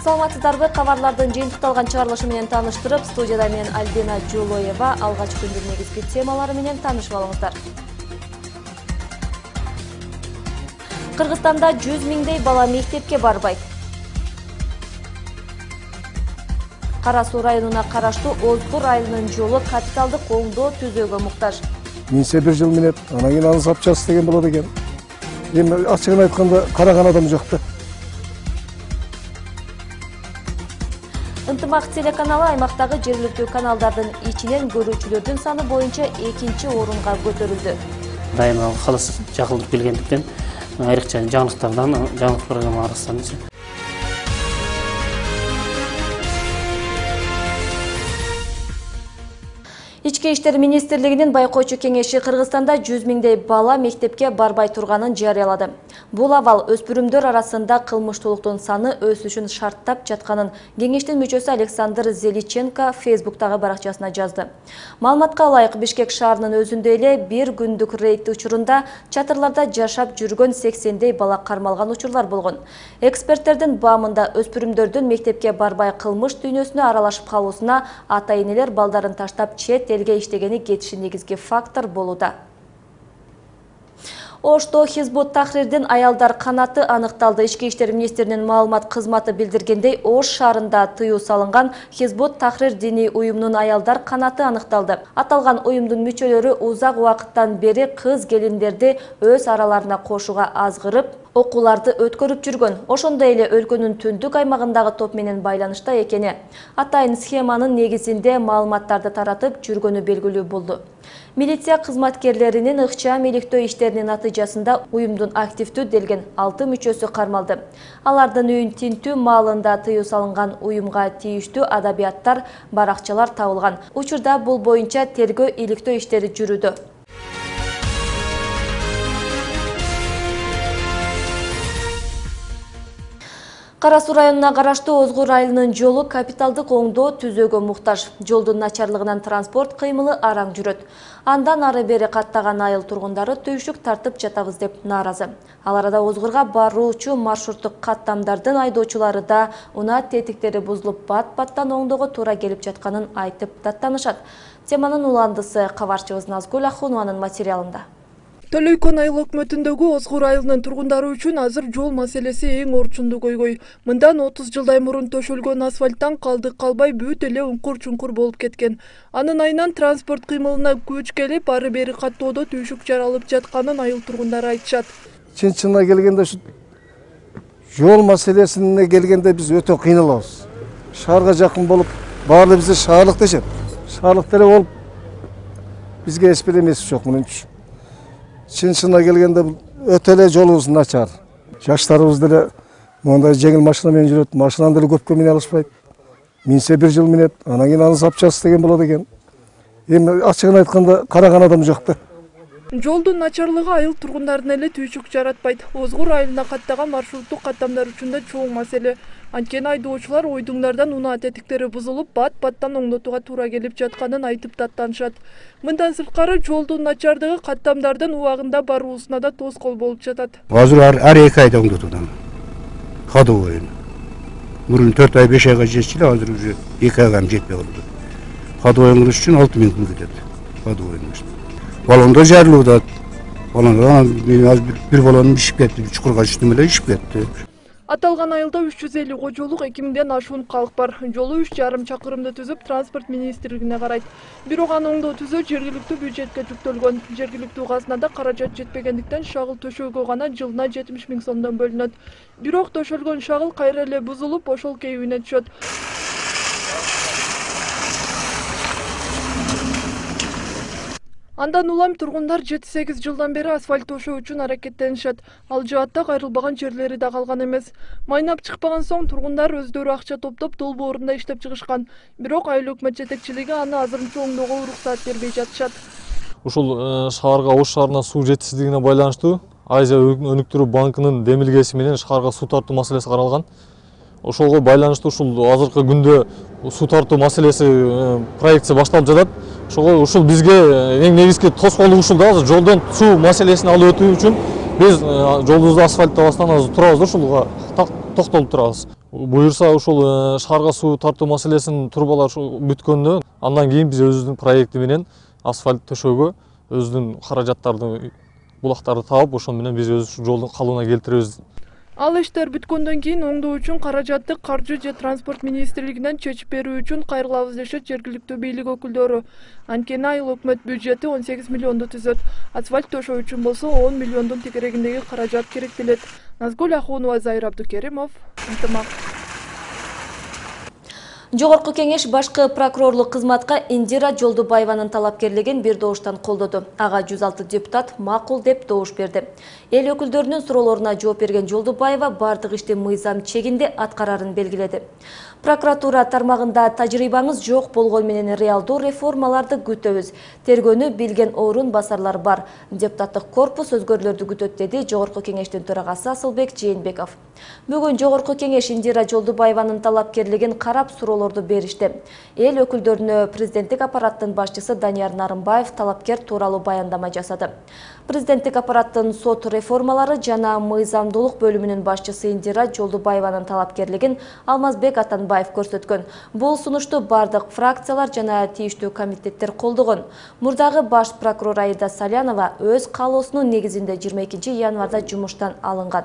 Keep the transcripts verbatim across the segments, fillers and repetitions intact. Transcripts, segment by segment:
Саламатсыздарбы, кабарлардын жыйынтыкталган чыгарылышы менен тааныштырып, студияда мен Альбина Жулоева. Алгач күндүн негизги темалары менен таанышып алыңыздар. Кыргызстанда жүз миңдей бала мектепке барбайт. Кара Суу районуна караштуу Озгур айылынын жолу капиталдык оңдоо түзөөгө муктаж. Минсе бир жыл минет, анан кийин аны запчасть деген болот экен. Эми ачыгын айтканда караган адам жокто. Ынтымак телеканалы аймактагы жергиликтүү каналдардын ичинен көрүүчүлөрдүн саны боюнча экинчи орунга көтөрүлдү. Дайыма калыс жакылдык келгендиктен айрыкча жаңылыктардан, жаңылык программа арасынан Ички иштер министрлигинин байкоочу кеңеши Кыргызстанда жүз миңдей бала мектепке барбай турганын жарыялады. Бул абал өспүрүмдөр арасында кылмыштуулуктун саны өсүшүн шарттап жатканын кеңештин мүчөсү Александр Зеличенко Фейсбуктагы баракчасына жазды. Маалыматка ылайык, Бишкек шаарынын өзүндө эле бир күндүк рейд учурунда чатырларда жашап жүргөн сексендей бала кармалган учурлар болгон. Эксперттердин баамында өспүрүмдөрдүн мектепке барбай кылмыш дүйнөсүнө аралашып калуусуна ата-энелер балдарын таштап чет элге иштегени кетиши негизги фактор болууда. Ошто Хизбут Тахрирдин аялдар канаты аныкталды. Ички иштер министринин маалымат кызматы билдиргендей, Ош шаарында тыюу салынган Хизбут Тахрир диний уюмунун аялдар канаты аныкталды. Аталган уюмдун мүчөлөрү узак убакыттан бери кыз келиндерди өз араларына кошууга азгырып, окууларды өткөрүп жүргөн. Ошондой эле өлкөнүн түндүк аймагындагы топ менен байланышта экени, атайын схеманын негизинде маалыматтарды таратып жүргөнү белгилүү болду. Милиция кызматкерлеринин ыкчам иликтөө иштеринин натыйжасында уюмдун активдүү делген алты мүчөсү кармалды. Алардын үйүн тинтүү маалында тыюу салынган уюмга тийиштүү адабияттар, баракчалар табылган. Учурда бул боюнча тергөө иликтөө иштери жүрүүдө. Кара Суу районуна караштуу Озгур айылынын жолу капиталдык оңдоо түзөөгө муктаж. Жолдун начарлыгынан транспорт кыймылы араң жүрөт. Андан ары бери каттаган айыл тургундары түйшүк тартып жатабыз деп нааразы. Ал арада Озгурга баруучу маршруттук каттамдардын айдоочулары да унаа тетиктери бузулуп бат-баттан оңдоого туура келип жатканын айтып даттанышат. Теманын уландысы кабарчыбыз Назгүл Ахунованын материалында. Төлөйкөн айыл өкмөтүндөгү Озгур айылынын тургундары үчүн азыр жол маселеси эң орчунду койгой. Мындан отуз жылдай мурун төшөлгөн асфальттан калдык калбай бүт эле уңкур-чуңкур болуп кеткен. Анын айынан транспорт кыймылына күч келип, ары бери каттоодо түйшүк жаралып жатканын айыл тургундары айтышат. Чын-чынына келгенде жол маселесине келгенде биз өтө кыйналабыз. Шаарга жакын болуп, баары бизде шаарлык дешет. Шаарлык деле болуп бизге эч бир эмеси жок мененчи. Чын-чынына келгенде өтө эле жолубуз начар. Жаштарыбыз деле мондай жеңил машина менен жүрөт, машинаны деле көпкө мине алышпайт. Минсе бир жыл минет, анан кийин аны запчасть деген болот экен. Эми ачыгын айтканда караган адам жокто. Жолдун начарлыгы айыл тургундарын эле түйшүк жаратпайт. Озгур айылына каттаган маршруттук каттамдар үчүн да чоң маселе. Анткени айдоочулар ойдуңдардан унаа тетиктери бузулуп, бат-баттан оңдотууга туура келип жатканын айтып даттанышат. Мындан сырткары жолдун начардыгы каттамдардын убагында баруусуна да тоскоол болуп жатат. Азыр ар эки айда оңдотуудан. Ходовой. Мурун төрт ай беш айга жетчү эле, азыр уже эки айга жетпей калды. Ходовой оңдош үчүн алты миң пул кетет. Ходовой. Балондо жарылууда. Балондо бир балон ишип кетти, чукурга түштүм эле ишип кетти. Аталган айылда үч жүз элүү кожолук, эки миңден ашуун калк бар. Жолу үч жарым чакырымды түзүп, транспорт министрлигине карайт. Бирок аны оңдоо түзөө жергиликтүү бюджетке жүктөлгөн. Жергиликтүү казынада каражат жетпегендиктен шагыл төшөөгө гана жылына жетимиш миң сомдон бөлүнөт. Бирок төшөлгөн шагыл кайра эле бузулуп, ошол кейибине түшөт. Андан улам тургундар жети сегиз жылдан бери асфальт төшөө үчүн аракеттенишет. Ал жаатта кайрылбаган жерлери да калган эмес. Майнап чыкпаган соң тургундар өздөрү акча топтоп долбоорунда иштеп чыгышкан. Бирок айыл өкмөт жетекчилиги аны азырынча оңдоого уруксаат бербей жатышат. Ушул шаарга Ош шаарына суу жетишсиздигине байланыштуу Азия өнүктүрүү банкынын демилгеси менен шаарга суу тартуу маселеси каралган. Ошолго байланыштуу ушул азыркы күндө суу тартуу маселеси проектси башталып жатат. Ошого ушул бизге эң негизги тоскоолдук ушул да, жолдон суу маселесин алып өтүү үчүн биз жолубузду асфальттабастан азыр турабыз да, ушулга токтолуп турабыз. Буюрса ушул шаарга суу тартуу маселесинин турбалар бүткөндө андан кийин биз өзүбүздүн проекти менен асфальт төшөөгө өзүнүн каражаттарды булактарды таап ошол менен биз өз жолдун калыбына келтиребиз. Ал иштер бүткөндөн кийин оңдоо үчүн каражатты Каржы же Транспорт министрлигинен чечип берүү үчүн кайрылабыз дешет жергиликтүү бийлик өкүлдөрү. Анткени айыл өкмөт бюджети он сегиз миллионду түзөт. Асфальт төшөө үчүн болсо он миллиондун тегерегиндеги каражат керектелет. Назгүл Ахунова, Зайыр Абдукеримов, Ынтымак. Жогорку кеңеш башкы прокурорлук кызматка Индира Жолдубаеванын талапкерлигин бир добуштан колдоду. Ага жүз алты депутат макул деп добуш берди. Эл өкүлдөрүнүн суроолоруна жооп берген Жолдубаева бардык ишти мыйзам чегинде аткарарын белгиледи. Прокуратура тармагында тажрыйбаңыз жок болгон менен реалдуу реформаларды күтөбүз. Тергөөнү билген орун басарлар бар. Депутаттык корпус өзгөрүүлөрдү күтөт, деди Жогорку кеңештин төрагасы Асылбек Жээнбеков. Бүгүн Жогорку кеңеш Индира Жолдубаеванын талапкерлигин карап суроолорду беришти. Эл өкүлдөрүнө президенттик аппараттын башчысы Данияр Нарымбаев талапкер тууралуу баяндама жасады. Президенттик аппараттын сот реформалары жана мыйзамдуулук бөлүмүнүн башчысы Индира Жолдубаеванын талапкерлигин Алмазбек Атанбаев көрсөткөн. Бул сунушту бардык фракциялар жана тийиштүү комитеттер колдогон. Мурдагы баш прокурор Аида Салянова өз каалоосунун негизинде жыйырма экинчи январда жумуштан алынган.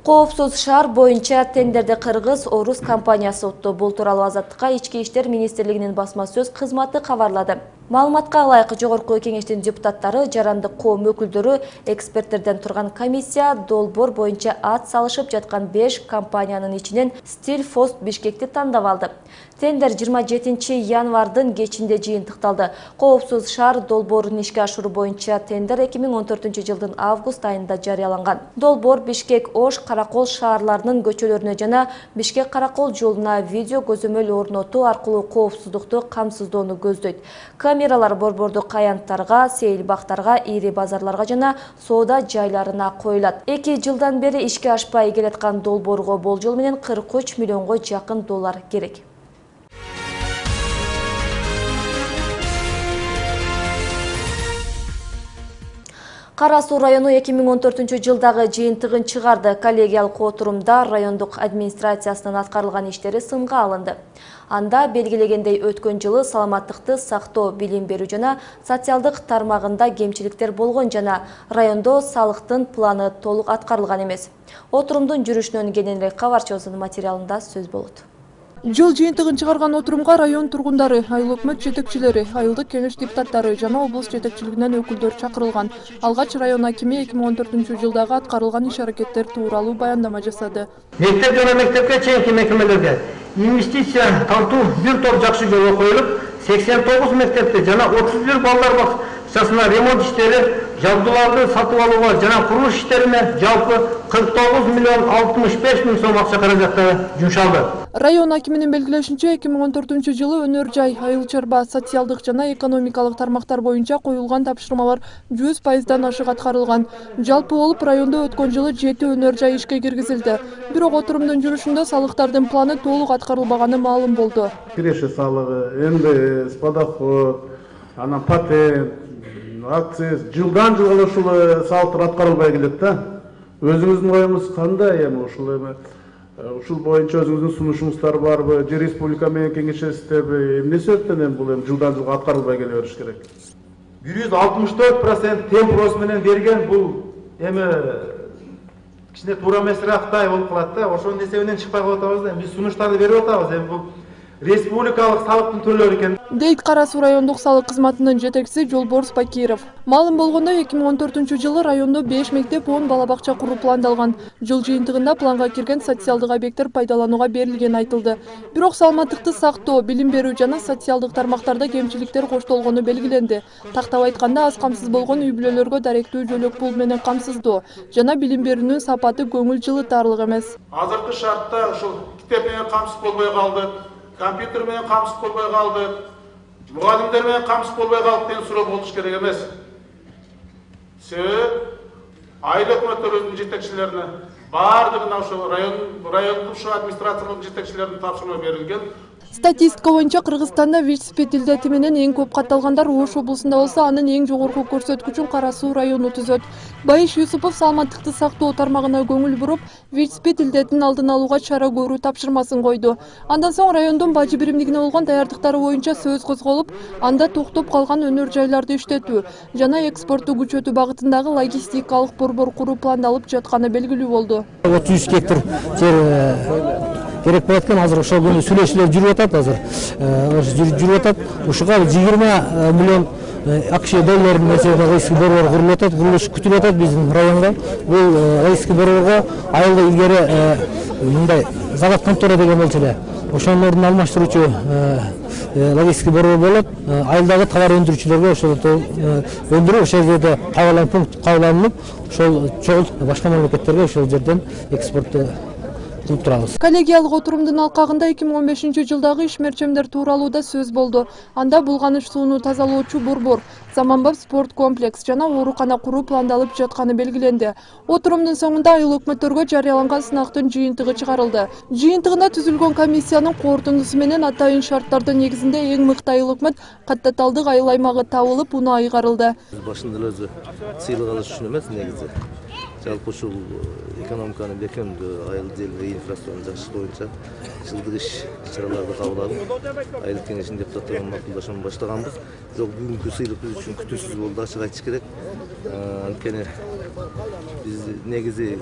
Коопсуз шаар боюнча тендерди кыргыз орус компаниясы утту. Бул тууралуу Азаттыкка Ички иштер министрлигинин басма сөз кызматы кабарлады. Маалыматка ылайык, Жогорку кеңештин депутаттары, жарандык коом өкүлдөрү, эксперттерден турган комиссия долбоор боюнча ат салышып жаткан беш компаниянын ичинен Стиль Фост Бишкекти тандап алды. Тендер жыйырма жетинчи январдын кечинде жыйынтыкталды. Коопсуз шаар долбоорун ишке ашыруу боюнча тендер эки миң он төртүнчү жылдын август айында жарыяланган. Долбоор Бишкек Ош Каракол шаарларынын көчөлөрүнө жана Бишкек Каракол жолуна видео көзөмөл орнотуу аркылуу коопсуздукту камсыздоону көздөйт. Камералар борбордук аянттарга, сейил бактарга, ири базарларга жана соода жайларына коюлат. эки жылдан бери ишке ашпай келаткан долбоорго болжол менен кырк үч миллионго жакын доллар керек. Кара Суу району эки миң он төртүнчү жылдагы жыйынтыгын чыгарды. Коллегиялык отурумда райондук администрациясынын аткарылган иштери сынга алынды. Анда белгилегендей өткөн жылы саламаттыкты сактоо, билим берүү жана социалдык тармагында кемчиликтер болгон жана райондо салыктын планы толук аткарылган эмес. Отурумдун жүрүшүнөн кененирээк кабарчыбыздын материалында сөз болот. Жыл жыйынтыгын чыгарган отурумга район тургундары, айыл өкмөт жетекчилери, айылдык кеңеш депутаттары жана облус жетекчилигинен өкүлдөр чакырылган. Алгач район акими эки миң он төртүнчү жылдагы аткарылган иш-аракеттер тууралуу баяндама жасады. Мектеп жана мектепке чейинки мекемелерге инвестиция тартуу бир топ жакшы жолго коюлуп, сексен тогуз мектепте жана отуз бир балдар бакчасына ремонт иштери, жабдууларды сатып алууга жана курулуш иштерине жалпы кырк тогуз миллион алтымыш беш миң сом акча каражаттары жумшалды. Район акиминин белгилешинче, эки миң он төртүнчү жылы өнөр жай, айыл чарба, социалдык жана экономикалык тармактар боюнча коюлган тапшырмалар жүз пайыздан ашык аткарылган. Жалпы болуп райондо өткөн жылы жети өнөр жай ишке киргизилди. Бирок отурумдун жүрүшүндө салыктардын планы толук аткарылбаганы маалым болду. Киреше салыгы, эн дэ эс, подоход, анан патент, акциз жылдан жылга ушул салыктар аткарылбай келет да. Өзүңүздүн оюңуз кандай эми ушул эми ушул боюнча өзүңүздүн сунушуңуздар барбы, же республика менен кеңешесиздерби, эмне себептен эми бул эми жылдан жылга аткарылбай келе бериш керек? бир жүз алтымыш төрт процент темпрос менен берген бул эми кичине туура эмесирактай болуп калат да. Ошонун эсебинен чыкпай калып атабыз да. Биз сунуштарды берип атабыз. Эми бул республикалык салыктын төлөөрү экен, дейт Кара Суу райондук салык кызматынын жетекчиси Жолборс Бакиров. Маалым болгондой, эки миң он төртүнчү жылы райондо беш мектеп, он бала бакча куруу пландалган. Жыл жыйынтыгында планга кирген социалдык объекттер пайдаланууга берилгени айтылды. Бирок саламаттыкты сактоо, билим берүү жана социалдык тармактарда кемчиликтер коштолгону белгиленди. Тактап айтканда, аз камсыз болгон үй бүлөлөргө даректүү жөлөк пул менен камсыздоо жана билим берүүнүн сапаты көңүл жылытарлык эмес. Азыркы шартта ушул китеп менен камсыз болбой калды, компьютер менен камсыз болбой калды, мугалимдер менен камсыз болбой калды деген суроо болуш керек эмес. Себеби айыл өкмөттөрүнүн жетекчилерине баардыгына ошо район райондук ушу администрациялык жетекчилеринин тапшырма берилген. Статистика боюнча Кыргызстанда ВИЧ-СПИД илдети менен эң көп катталгандар Ош облусунда болсо, анын эң жогорку көрсөткүчүн Кара Суу району түзөт. Байыш Юсупов саламаттыкты сактоо тармагына көңүл буруп, ВИЧ-СПИД илдетин алдын алууга чара көрүү тапшырмасын койду. Андан соң райондун бажы биримдигине болгон даярдыктары боюнча сөз козголуп, анда токтоп калган өнөр жайларды иштетүү жана экспортту күчөтүү багытындагы логистикалык борбор куруу пландалып жатканы белгилүү болду. отуз үч гектар жер керек болот экен, азыр ошол күнү сүйлөшүүлөр жүрүп атат, азыр жүрүп атат. Ушуга жыйырма миллион АКШ долларын мөлшөрүндө логистика борбор курулуп атат, курулуш күтүлүп атат биздин районго. Бул логистика борборго айылда илгери мындай завод контора деген болчу эле. Ошонун ордун алмаштыруучу логистика борбор болот. Айылдагы товар өндүрүүчүлөргө ошол өндүрүү ошол жерде кабылган пункт кабылданып, ошол чогул башка мамлекеттерге ошол жерден экспортту кылып турабыз. Коллегиялык отурумдун алкагында эки миң он бешинчи жылдагы иш-мерчемдер тууралуу да сөз болду. Анда булганыч сууну тазалоочу борбор, заманбап спорт комплекс жана оорукана куруу пландалып жатканы белгиленди. Отурумдун соңунда айыл өкмөттөргө жарыяланган сынактын жыйынтыгы чыгарылды. Жыйынтыгында түзүлгөн комиссиянын корутундусу менен атайын шарттардын негизинде эң мыкты айыл өкмөт Каттаталдык айыл аймагы табылып, унаа айгарылды. Башында эле сыйлык алыш үчүн эмес, негизи жалпы ушул экономиканы бекемдөө, айыл желе инфраструктураны жакшыртуу боюнча жылдык иш чараларды кабыл алып, айыл кеңешинин депутаттары менен макулдашууну баштаганбыз. Бирок бүгүнкү сыйлык биз үчүн күтүүсүз болду, ачык айтыш керек. Анткени биз негизи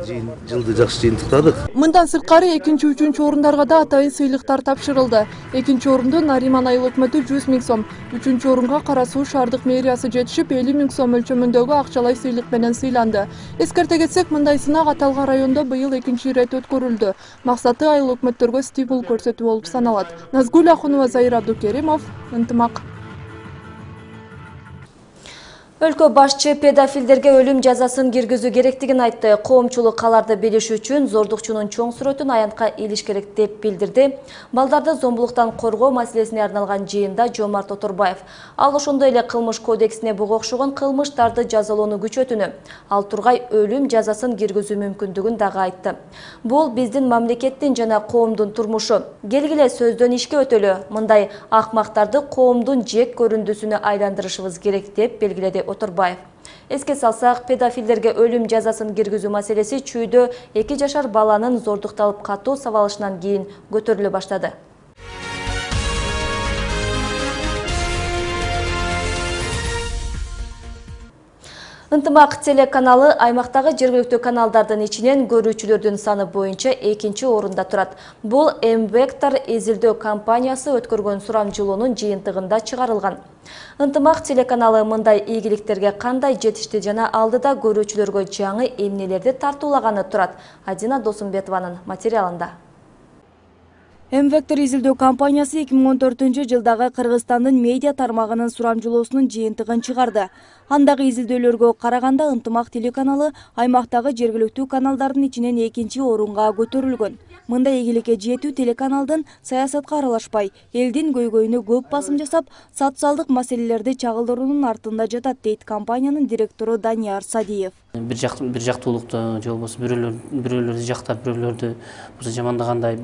жылды жакшы жыйынтыктадык. Мындан сырткары экинчи, үчүнчү орундарга да атайын сыйлыктар тапшырылды. Экинчи орунду Нариман айыл өкмөтү жүз миң сом, үчүнчү орунга Кара Суу шаардык мэриясы жетишип элүү миң сом өлчөмүндөгү акчалай сыйлык менен сыйланды. Эскерте кетсек, мындай сынак аталган райондо быйыл экинчи ирет өткөрүлдү. Максаты айыл өкмөттөргө стимул көрсөтүү болуп саналат. Назгүл Ахунова, Зайыр Абдукеримов, Ынтымак. Өлкө башчы педофилдерге өлүм жазасын киргизүү керектигин айтты. Коомчулук аларды билиш үчүн зордукчунун чоң сүрөтүн аянтка илиш керек деп билдирди. Балдарды зомбулуктан коргоо маселесине арналган жыйында Жомарт Оторбаев. Ал ошондой эле кылмыш кодексине буга окшогон кылмыштарды жазалоону күчөтүүнү, ал тургай өлүм жазасын киргизүү мүмкүндүгүн дагы айтты. Бул биздин мамлекеттин жана коомдун турмушу. Келгиле сөздөн ишке өтөлү. Мындай акмактарды коомдун жек көрүндүсүнө айландырышыбыз керек деп белгиледи Оторбаев. Эске салсак, педофилдерге өлүм жазасын киргизүү маселеси чүйдө эки жашар баланын зордукталып катуу сабалышынан кийин көтөрүлө баштады. Ынтымак телеканалы аймактагы жергиликтүү каналдардын ичинен көрүүчүлөрдүн саны боюнча экинчи орунда турат. Бул М-Вектор изилдөө компаниясы өткөргөн сурамжылоонун жыйынтыгында чыгарылган. Ынтымак телеканалы мындай ийгиликтерге кандай жетишти жана алдыда көрүүчүлөргө жаңы эмнелерди тартуулаганы турат. Адина Досумбетованын материалында. М-Вектор изилдөө компаниясы эки миң он төртүнчү жылдагы Кыргызстандын медиа тармагынын сурамжылоосунун жыйынтыгын чыгарды. Андагы изилдөөлөргө караганда Ынтымак телеканалы аймактагы жергиликтүү каналдардын ичинен экинчи орунга көтөрүлгөн. Мындай ийгиликке жетүү телеканалдын саясатка аралашпай, элдин көйгөйүнө көп басым жасап, социалдык маселелерди чагылдыруунун артында жатат, дейт компаниянын директору Данияр Садиев. Бир жак бир жактуулукту же болбосо бирөөлөр бирөөлөрдү жактап, бирөөлөрдү жамандагандай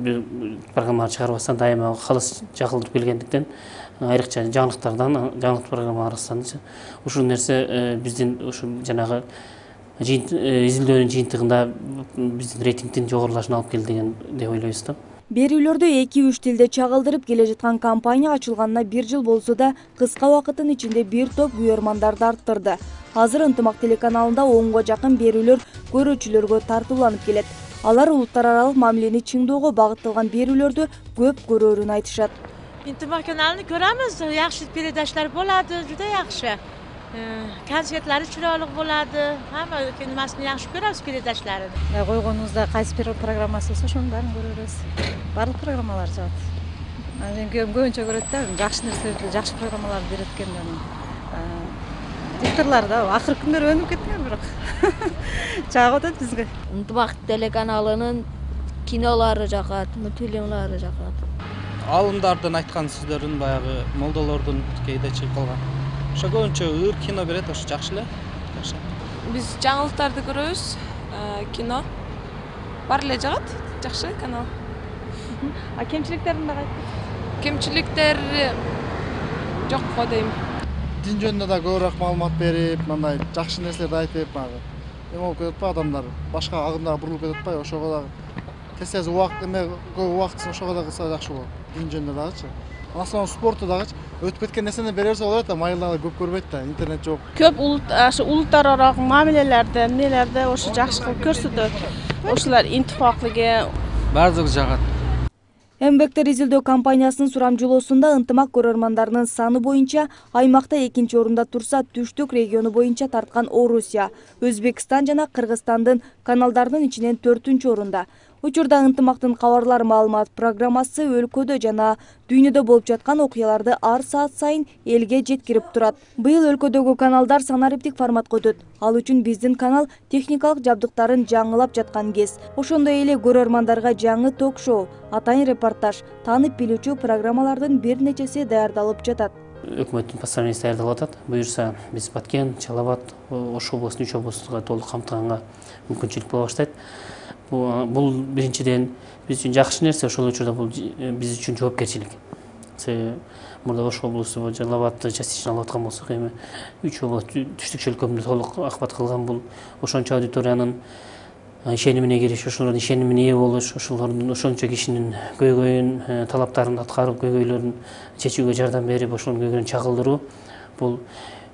программалар чыгарбастан дайыма калыс жакылдырып келгендиктен, айрыкча жаңылыктардан, жаңылык программалардан ушул нерсе биздин ушу жанагы изилдөөнүн жыйынтыгында биздин рейтингдин жогорулашына алып келди деген деп ойлойбуз да. Берүүлөрдү эки-үч тилде чагылдырып келе жаткан компания ачылганына бир жыл болсо да, кыска убакыттын ичинде бир топ күйөрмандарды арттырды. Азыр Ынтымак телеканалында онго жакын берүүлөр көрүүчүлөргө тартууланып келет. Алар улуттар аралык мамилени чыңдоого багытталган берүүлөрдү көп көрөөрүн айтышат. Ынтымак каналын көрөбүз, жакшы передачалар болот, жуда жакшы. Концертлери чыроолук болот, хамма киномасын жакшы көрөбүз передачаларын. Койгонубузда кайсы бир программасы болсо ошонун баарын көрөбүз. Барлык программалар жагат. Мен көбүнчө көрөт да, жакшы нерселерди, жакшы программаларды берет экен. Дикторлор да акыркы күндөр өнүп кеткен бирок чагып атат бизге. Ынтымак телеканалынын кинолору жагат, мультфильмлары жагат. Алымдардын айткан сөздөрүн баягы молдолордун кейде чыгып калган. Ошо көбүнчө ыр кино берет, ошо жакшы эле. Биз жаңылыктарды көрөбүз, кино. Бар эле жагат, жакшы канал. А кемчиликтерин дагы айтып. кемчиликтер жок го дейм. Дин жөнүндө да көбүрөөк маалымат берип, мындай жакшы нерселерди айтып, мага эме болуп кетип атпайбы адамдар, башка агымдарга бурулуп кетип атпайбы? Ошого дагы тез-тез убакыт эме көп убактысын ошого да кылса жакшы болот. Дин жөнүндө дагычы. Анан спорту дагычы өтүп кеткен нерсени бере берсе болот да, майылдагы көп көрбөйт да, интернет жок. Көп улут ашы улуттар аралык мамилелерде, эмнелерде ошо жакшы кылып көрсөтөт. Ошолар интифаклыгы баардыгы жагат. Эмгектер изилдөө компаниясынын сурамжылоосунда ынтымак көрөрмандарынын саны боюнча аймакта экинчи орунда турса, түштүк региону боюнча тарткан Орусия, Өзбекстан жана Кыргызстандын каналдарынын ичинен төртүнчү орунда. Учурда ынтымактын кабарлар маалымат программасы өлкөдө жана дүйнөдө болуп жаткан окуяларды ар саат сайын элге жеткирип турат. Быйыл өлкөдөгү каналдар санариптик форматка өтөт. Ал үчүн биздин канал техникалык жабдыктарын жаңылап жаткан кез. Ошондой эле көрөрмандарга жаңы ток-шоу, атайын репортаж, таанып билүүчү программалардын бир нечеси даярдалып жатат. Өкмөттүн постановлениясы даярдалып атат. Буюрса биз Баткен, Чалабат, Ош облусунун үч облустуга толук камтыганга мүмкүнчүлүк боло баштайт. Бул биринчиден биз үчүн жакшы нерсе, ошол учурда бул биз үчүн жоопкерчилик. Мурда Ош облусу, Жалалабадты частично алып аткан болсок, эми үч област түштүк чөлкөмдү толук акыбат кылган бул ошончо аудиториянын ишенимине кириш, ошолордун ишенимине ээ болуш, ошолордун ошончо кишинин көйгөйүн, талаптарын аткарып, көйгөйлөрүн чечүүгө жардам берип, ошонун көйгөйүн чагылдыруу бул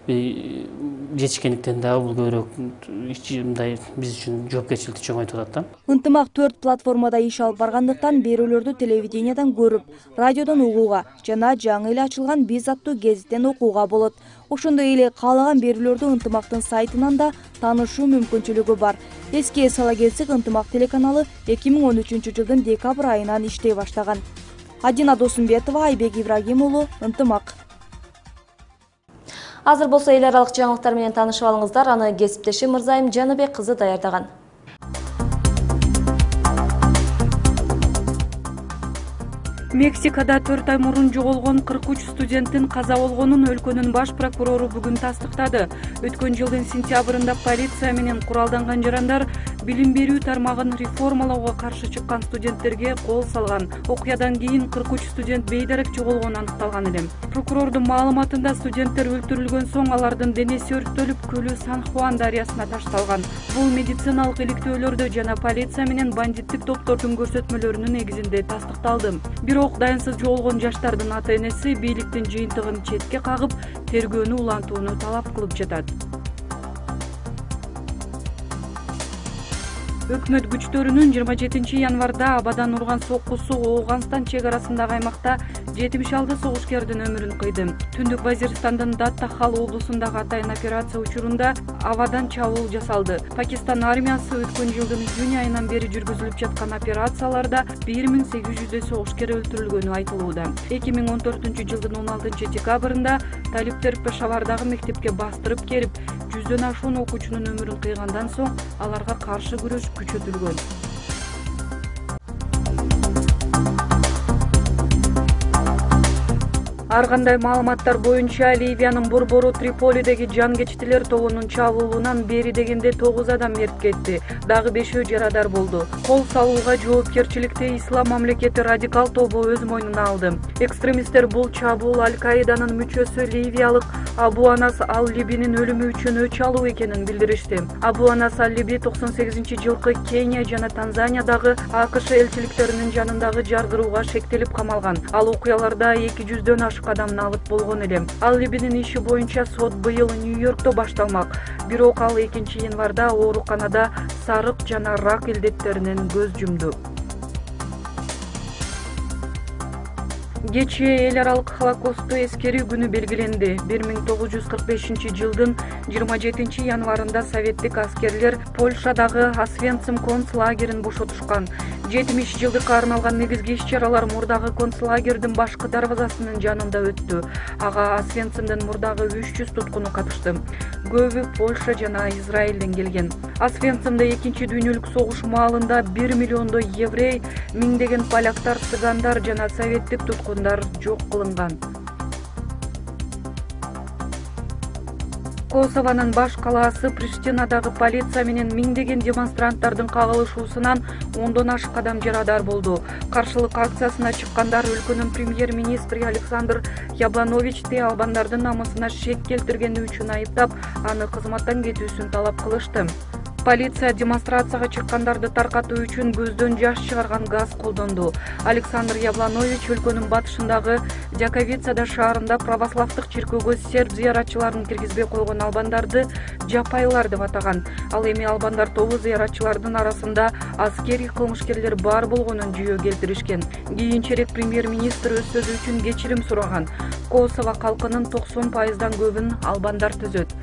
жетишкендиктен дагы бул көбүрөөк мындай биз үчүн жоопкерчиликти чоңойтуп атат да. Ынтымак төрт платформада иш алып баргандыктан берүүлөрдү телевидениядан көрүп, радиодон угууга жана жаңы эле ачылган Биз аттуу гезиттен окууга болот. Ошондой эле каалаган берүүлөрдү Ынтымактын сайтынан да таанышуу мүмкүнчүлүгү бар. Эске сала келсек, Ынтымак телеканалы эки миң он үчүнчү жылдын декабрь айынан иштей баштаган. Адина Досумбетова, Айбек Ибрагим уулу, Ынтымак. Азыр болсо эл аралык жаңылыктар менен таанышып алыңыздар. Аны кесиптешим Мырзайым Жаныбек кызы даярдаган. Мексикада төрт ай мурун жоголгон кырк үч студенттин каза болгонун өлкөнүн баш прокурору бүгүн тастыктады. Өткөн жылдын сентябрында полиция менен куралданган жарандар билим берүү тармагын реформалоого каршы чыккан студенттерге кол салган. Окуядан кийин кырк үч студент бейдарек жоголгону аныкталган эле. Прокурордун маалыматында студенттер өлтүрүлгөн соң алардын денеси өрттөлүп, көлү Сан-Хуан дарыясына ташталган. Бул медициналык иликтөөлөрдө жана полиция менен бандиттик топтордун көрсөтмөлөрүнүн негизинде тастыкталды. Бирок дайынсыз жоголгон жаштардын ата-энеси бийликтин жыйынтыгын четке кагып, тергөөнү улантууну талап кылып жатат. Өкмөт күчтөрүнүн жыйырма жетинчи январда абадан урган соккусу Ооганстан чек арасындагы аймакта жетимиш алты согушкердин өмүрүн кыйды. Түндүк Вазирстандын Даттахал облусундагы атайын операция учурунда абадан чабуул жасалды. Пакистан армиясы өткөн жылдын июнь айынан бери жүргүзүлүп жаткан операцияларда бир миң сегиз жүздөй согушкер өлтүрүлгөнү айтылууда. эки миң он төртүнчү жылдын он алтынчы декабрында талиптер Пешавардагы мектепке бастырып келип, жүздөн ашуун окуучунун өмүрүн кыйгандан соң аларга каршы күрөш күчөтүлгөн. Ар кандай маалыматтар боюнча Ливиянын борбору Триполидеги жангечтилер тобунун чабуулунан бери дегенде тогуз адам мерт кетти. Дагы бешөө жарадар болду. Кол салууга жоопкерчиликти Ислам мамлекети радикал тобу өз мойнуна алды. Экстремисттер бул чабуул Аль-Каиданын мүчөсү ливиялык Абу Анас Ал-Либинин өлүмү үчүн өч алуу экенин билдиришти. Абу Анас Ал-Либи токсон сегизинчи жылкы Кения жана Танзаниядагы АКШ элчиликтеринин жанындагы жардырууга шектелип камалган. Ал окуяларда эки жүздөн ашык адамды алып болгон эле. Ал-Либинин иши боюнча сот быйыл Нью-Йоркто башталмак. Бирок ал экинчи январда ооруканада сарык жана рак илдеттеринен көз жумду. Кечээ эл аралык Холокосту эскерүү күнү белгиленди. бир миң тогуз жүз кырк бешинчи жылдын жыйырма жетинчи январында советтик аскерлер Польшадагы Освенцим концлагерин бошотушкан. жетимиш жылдыкка арналган негизги иш-чаралар мурдагы концлагердин башкы дарбазасынын жанында өттү. Ага Освенцимден мурдагы үч жүз туткуну катышты. Көбү Польша жана Израилден келген. Освенцимде экинчи дүйнөлүк согуш маалында бир миллиондой еврей, миңдеген поляктар, цыгандар жана советтик туткундар жок кылынган. Косованын баш калаасы Приштинадагы полиция менен миңдеген демонстранттардын кагылышуусунан ондон ашык адам жарадар болду. Каршылык акциясына чыккандар өлкөнүн премьер-министри Александр Яблановичти албандардын намысына шек келтиргени үчүн айыптап, аны кызматтан кетүүсүн талап кылышты. Полиция демонстрацияга чыккандарды таркатуу үчүн көздөн жаш чыгарган газ колдонду. Александр Ябланович өлкөнүн батышындагы Жаковицада шаарында православдык чиркөөгө серб зыяратчыларын киргизбей койгон албандарды жапайлар деп атаган. Ал эми албандар тобу зыяратчылардын арасында аскерий кылмышкерлер бар болгонун жүйө келтиришкен. Кийинчерээк премьер-министр өз сөзү үчүн кечирим сураган. Косово калкынын токсон пайыздан көбүн албандар түзөт.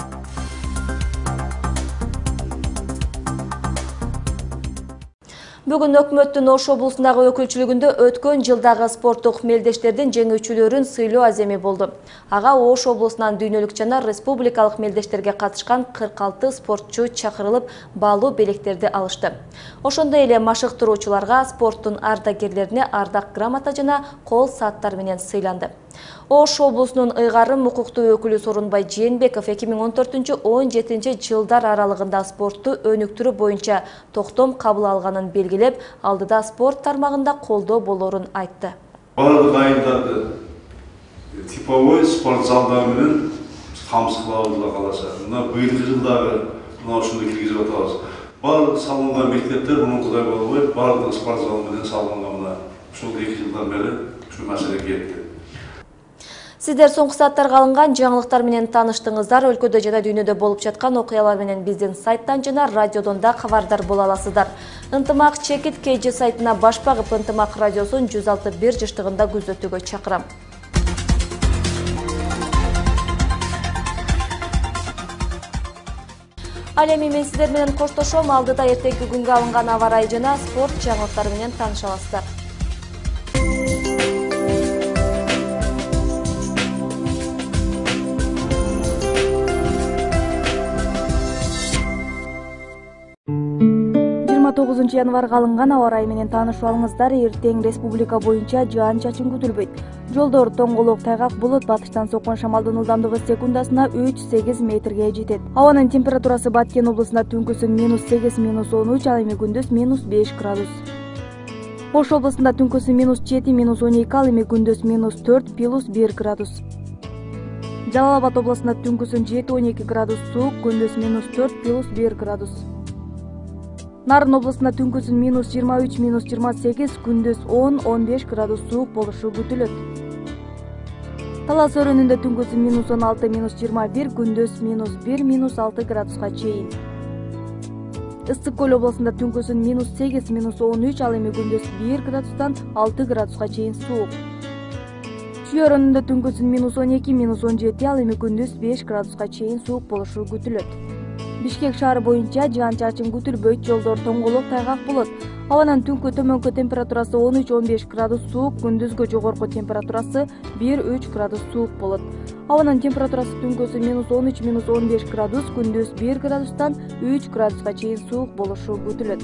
Бүгүн өкмөттүн Ош облусундагы өкүлчүлүгүндө өткөн жылдагы спорттук мелдештердин жеңүүчүлөрүн сыйлоо аземи болду. Ага Ош облусунан дүйнөлүк жана республикалык мелдештерге катышкан кырк алты спортчу чакырылып, баалуу белектерди алышты. Ошондой эле машыктыруучуларга, спорттун ардагерлерине ардак грамота жана кол сааттар менен сыйланды. Ош облусунун ыйгарым укуктуу өкүлү Сорунбай Жээнбеков эки миң он төртүнчү — он жетинчи жылдар аралыгында спортту өнүктүрүү боюнча токтом кабыл алганын белгилеп, алдыда спорт тармагында колдоо болорун айтты. Барлык айылдарды типовой спорт залдары менен камсыздабыз каласа. Мына быйылкы жылдары мына ушуну киргизип атабыз. Барлык салынган мектептер мурункудай болбой, барлык спорт зал менен салынган мына ушул эки жылдан бери ушул маселе кетти. Сиздер соңку сааттарга алынган жаңылыктар менен тааныштыңыздар. Өлкөдө жана дүйнөдө болуп жаткан окуялар менен биздин сайттан жана радиодон да кабардар боло аласыздар. Ынтымак чекит кей жи сайтына баш багып, Ынтымак радиосун жүз алты бир жыштыгында күзөтүүгө чакырам. Ал эми мен сиздер менен коштошом. Алдыда эртеңки күнгө алынган аба ырайы жана спорт жаңылыктары менен тааныша аласыздар. тогузунчу январга алынган аба ырайы менен таанышып алыңыздар. Эртең республика боюнча жаан-чачын күтүлбөйт. Жолдор тоңголок, тайгак болот, батыштан соккон шамалдын ылдамдыгы секундасына үч сегиз метрге жетет. Абанын температурасы Баткен облусунда түнкүсүн минус сегиз минус он үч, ал эми күндүз минус беш градус. Ош облусунда түнкүсүн минус жети минус он эки, ал эми күндүз минус төрт плюс бир градус. Жалал Абад облусунда түнкүсүн жети он эки градус суук, күндүз минус төрт плюс бир градус. Нарын облусунда түнкүсүн минус жыйырма үч минус жыйырма сегиз, күндүз он он беш градус суук болушу күтүлөт. Талас өрөөнүндө түнкүсүн минус он алты минус жыйырма бир, күндүз минус бир минус алты градуска чейин. Ысык көл облусунда түнкүсүн минус сегиз минус он үч, ал эми күндүз бир градустан алты градуска чейин суук. Чүй өрөөнүндө түнкүсүн минус он эки минус он жети, ал эми күндүз беш градуска чейин суук болушу күтүлөт. Бишкек шаары боюнча жаан-чачын күтүлбөйт, жолдор тоңголок, тайгак болот. Абанын түнкү төмөнкү температурасы он үч он беш градус суук, күндүзгү жогорку температурасы бир үч градус суук болот. Абанын температурасы түнкүсү минус он үч минус он беш градус, күндүз бир градустан үч градуска чейин суук болушу күтүлөт.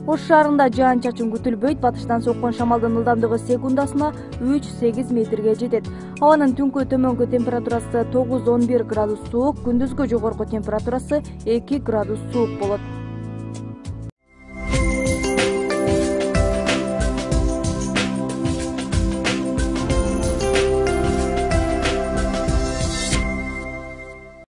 Ош шаарында жаан-чачын күтүлбөйт, батыштан соккон шамалдын ылдамдыгы секундасына үч сегиз метрге жетет. Абанын түнкү төмөнкү температурасы тогуз он бир градус суук, күндүзгү жогорку температурасы эки градус суук болот.